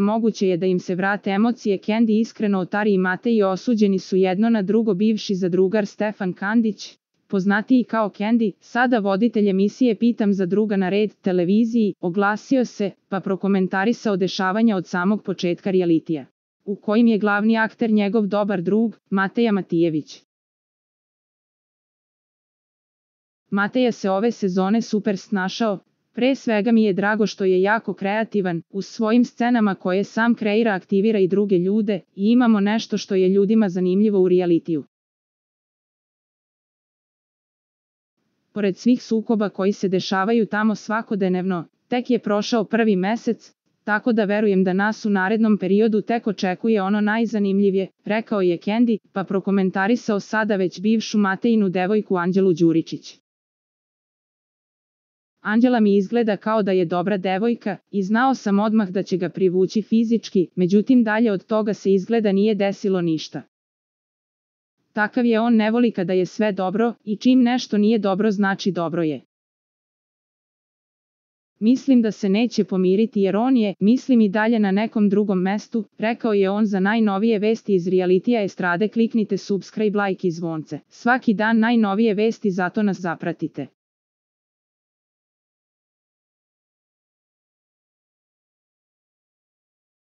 moguće je da im se vrate emocije. Candy iskreno Otari i Matej osuđeni su jedno na drugo. Bivši zadrugar Stefan Kandić, poznatiji kao Candy, sada voditelj emisije Pitam za druga na Red televiziji, oglasio se, pa prokomentarisao dešavanja od samog početka realitija, u kojim je glavni akter njegov dobar drug, Mateja Matijević. Mateja se ove sezone super snašao. Pre svega mi je drago što je jako kreativan, u svojim scenama koje sam kreira aktivira i druge ljude, i imamo nešto što je ljudima zanimljivo u realitiju. Pored svih sukoba koji se dešavaju tamo svakodnevno, tek je prošao prvi mesec, tako da verujem da nas u narednom periodu tek očekuje ono najzanimljivije, rekao je Candy, pa prokomentarisao sada već bivšu Matejinu devojku Anđelu Đuričić. Anđela mi izgleda kao da je dobra devojka i znao sam odmah da će ga privući fizički, međutim dalje od toga se izgleda nije desilo ništa. Takav je on, ne voli kada je sve dobro i čim nešto nije dobro znači dobro je. Mislim da se neće pomiriti jer on je, mislim i dalje na nekom drugom mestu, rekao je on. Za najnovije vesti iz realitija estrade kliknite subscribe, like i zvonce. Svaki dan najnovije vesti, zato nas zapratite.